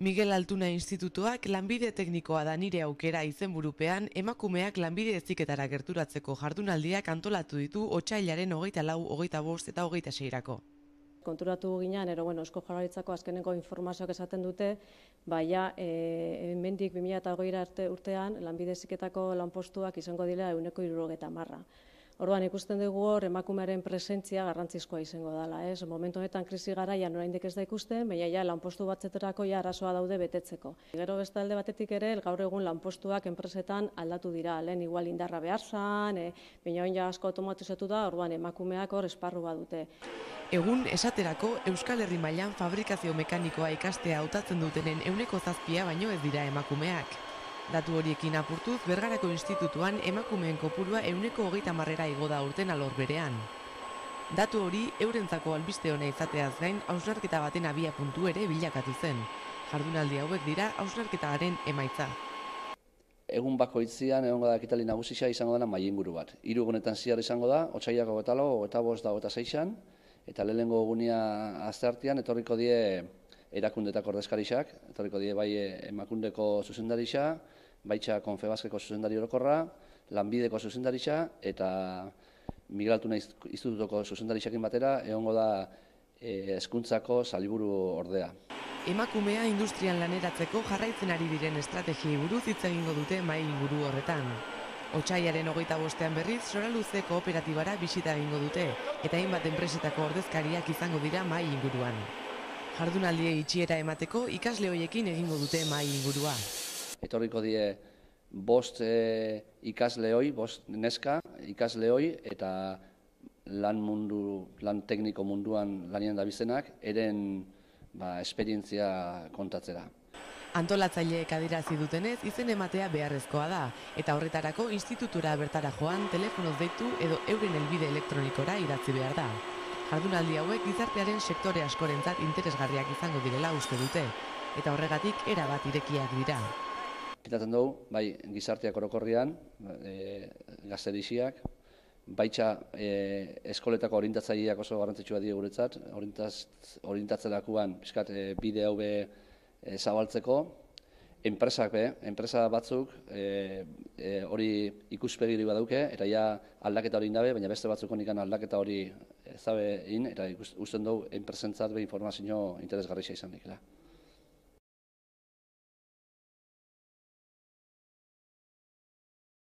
Miguel Altuna Institutuak lanbide teknikoa da nire aukera izenburupean emakumeak lanbide heziketara gerturatzeko jardunaldiak antolatu ditu otsailaren 24, 25 eta 26-rako. Konturatu ginean, Eusko Jaurlaritzako azkeneko informazioak esaten dute, hemendik 2020 urtean lanbide heziketako lanpostuak izango dira 170. Orduan ikusten dugu hor emakumearen presentzia garrantzizkoa izango dela, ez? Momentu honetan krisi garaian oraindik ez da ikusten, baina lanpostu batzuetarako arazoa daude betetzeko. Gero beste alde batetik ere, gaur egun lanpostuak enpresetan aldatu dira, lehen igual indarra behar zan, baina orain asko automatizatu da, orduan emakumeak hor esparru badute. Egun esaterako Euskal Herri mailan fabrikazio mekanikoa ikastea hautatzen dutenen 7% baino ez dira emakumeak. Datu horiekin apurtuz, Bergarako Institutuan emakumeen kopurua 130 igo da urten alor berean. Datu hori eurentzako albiste ona izateaz gain hausnarketa baten abiapuntu ere bilakatu zen. Jardunaldi hauek dira hausnarketaren emaitza. Egun bakoitzean egongo da ekitaldi nagusia izango dena mahai inguru bat. 3 egunetan zehar izango da, otsailak 24, 25 eta 26an, eta lehenengo egunia asteartean etorriko die erakundetako ordezkarixak, etorriko die bai Emakundeko zuzendarixa, baitxa Konfebaskeko zuzendari orokorra, Lanbideko zuzendarixa eta Miguel Altuna Institutuko zuzendarixakin batera egongo da hezkuntzako sailburu ordea. Emakumea industrian laneratzeko jarraitzen ari diren estrategiei buruz hitz egingo dute mahai inguru horretan. Otsailaren 25ean berriz Soraluze kooperatibara bisita egingo dute eta hainbat enpresetako ordezkariak izango dira mahai inguruan. Jardunaldiei itxiera emateko ikasle hoiekin egingo dute mahai ingurua. Etorriko die 5 ikaslehoi, 5 neska ikaslehoi eta lan tekniko munduan lanien dabizenak eren esperientzia kontatzera. Antolatzaileek adierazi dutenez izen ematea beharrezkoa da eta horretarako institutura bertara joan, telefonoz deitu edo euren helbide elektronikora idatzi behar da. Jardunaldi hauek gizartearen sektore askorentzat interesgarriak izango direla uste dute, eta horregatik erabat irekiak dira. Pitatzen dugu, bai gizarteak orokorrian, gazterixiak, baitxa eskoletako orientatzaileak oso garrantzitsua die guretzat, orientatzerakoan bide hau zabaltzeko, enpresa batzuk hori ikuspegiri badauke, eta ja aldaketa hori indabe, baina beste batzuk honik aldaketa hori zabe in, eta usten dugu enpresentzat informazio interesgarria izan dikela.